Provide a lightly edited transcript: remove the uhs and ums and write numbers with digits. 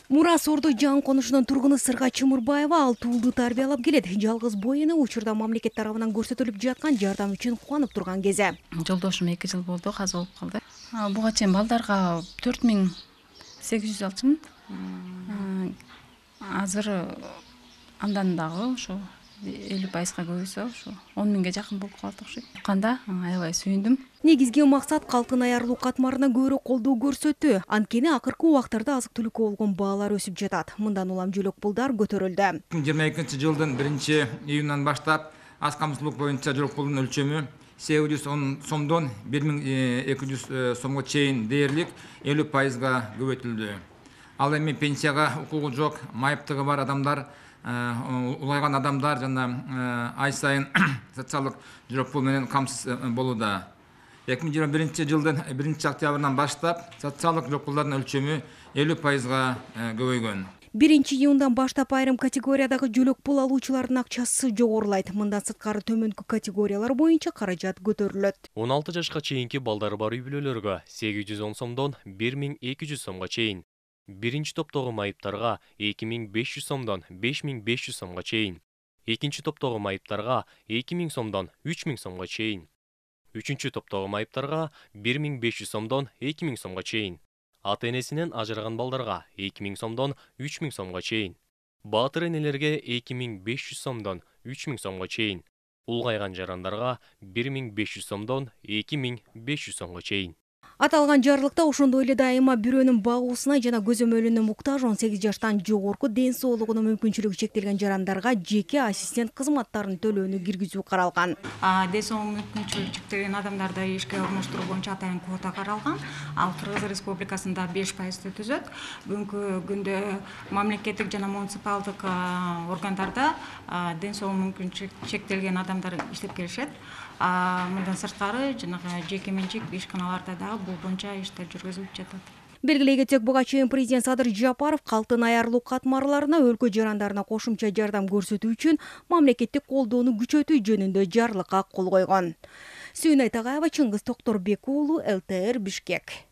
Мурас Ордо жаңы конушунун тургуну Сырга Чымырбаева 6 уулду тарбиялап келет. Жалгыз боюну учурда мамлекет тарабынан көрсөтүлүп жаткан жардам үчүн кубанып турган кези. Жолдошум 2 жыл болду, каза болуп калды. Буга чейин балдарга 4800 алчумун. Азыр андан дагы ошо 50%га көбөйсө, ошо 10 миңге жакын болуп калат окшойт. Канда аябай сүйүндүм. Негизги максат калктын аярылуу катмарына көбүрөөк колдоо көрсөтүү. Анткени акыркы убактарда азык-түлүккө болгон баалар өсүп жатат. Мындан улам жөлөк пулдар көтөрүлдү. 2022-жылдын 1-июнунан баштап аз камсыздуулук боюнча жөлөк пулдун өлчөмү 810 сомдон 1200 сомго чейин дээрлик 50%га көбөйтүлдү. Ал эми пенсияга укугу жок, майыптыгы бар адамдар, улайган адамдар жана ай сайын социалдык жөлөк пул менен камсыз болууда. 2021-жылдын 1-октябрынан баштап социалдык жөлөк пулдардын өлчөмү 50%га көбөйгөн. 1-июндан баштап айрым категориядагы жөлөк пул алуучулардын акчасы жогорулайт. Мындан сырткары төмөнкү категориялар боюнча каражат көтөрүлөт. 16 жашка чейинки балдары бар үй-бүлөлөргө 810 сомдон 1200 сомго чейин. Биринчи топтогу майыптарга 2500 сомдон 5500 сомго чейин. Экинчи топтогу майыптарга 2000 сомдон 3000 сомго чейин. Үчүнчү топтогу майыптарга 1500 сомдон 2000 сомго чейин. Ата-энесинен ажыраган балдарга 2000 сомдон 3000 сомго чейин. Баатыр энелерге 2500 сомдон 3000 сомго чейин. Улгайган жарандарга 1500 сомдон 2500 сомго чейин. Аталган жарлыкта ошондой эле дайыма бирөөнүн багуусуна жана көзөмөлүнө муктаж 18 жаштан жогорку ден соолугунун мүмкүнчүлүгү чектелген жарандарга жеке ассистент кызматтарын төлөөнү киргизүү каралган. Ден соолугу мүмкүнчүлүгү чектелген адамдарды ишке орноштуруу боюнча атайын квота каралган. Ал Кыргыз Республикасында 5%-ты түзөт. Бүгүнкү күндө мамлекеттик жана муниципалдык органдарда ден соолугу мүмкүнчүлүгү чектелген адамдар иштеп келишет. Мындан сырткары жанагы жеке менчик ишканаларда дагы бул боюнча иштер жүргүзүлүп жатат. Белгилей кетсек, буга чейин президент Садыр Жапаров калктын аярылуу катмарларына өлкө жарандарына кошумча жардам көрсөтүү үчүн мамлекеттик колдоону күчөтүү жөнүндө жарлыкка кол койгон. Сүйүнай Тагаева, Чыңгыз Токторбек уулу, ЛТР, Бишкек.